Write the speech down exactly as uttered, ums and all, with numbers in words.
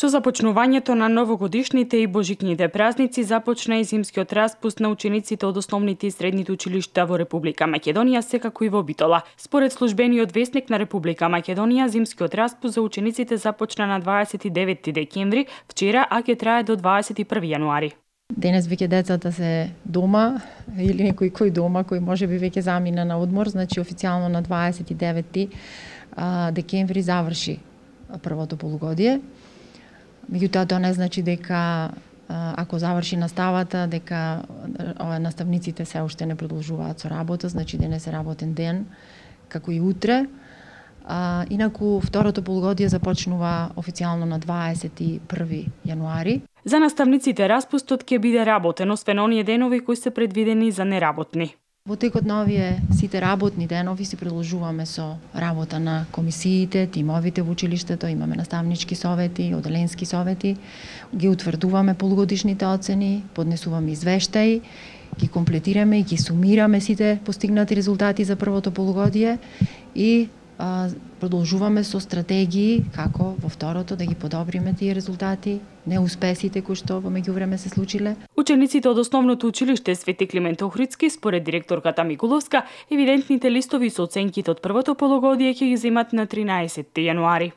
Со започнувањето на новогодишните и божикните празници започна и зимскиот распуст на учениците од основните и средните училишта во Република Македонија, секако и во Битола. Според службениот весник на Република Македонија, зимскиот распуст за учениците започна на дваесет и деветти декември, вчера, а ќе трае до дваесет и први јануари. Денес веќе децата се дома или некој кој дома кој може би веќе замина на одмор, значи официјално на дваесет и деветти декември заврши првото полугодие. Меѓутоа тоа не значи дека ако заврши наставата, дека наставниците се уште не продолжуваат со работа, значи денес е работен ден, како и утре. А, инаку второто полугодие започнува официјално на дваесет и први јануари. За наставниците распустот ќе биде работен, освен оние денови кои се предвидени за неработни. Во текот на овие сите работни денови си продолжуваме со работа на комисиите, тимовите во училиштето, имаме наставнички совети, оделенски совети, ги утврдуваме полугодишните оцени, поднесуваме извештаи, ги комплетираме и ги сумираме сите постигнати резултати за првото полугодие и а, продолжуваме со стратегии како во второто да ги подобриме тие резултати, неуспесите кои што во меѓувреме се случиле. Учениците од основното училиште Свети Климент Охридски, според директорката Микуловска, евидентните листови со оценките од првото полугодие ќе ги земат на тринаесетти јануари.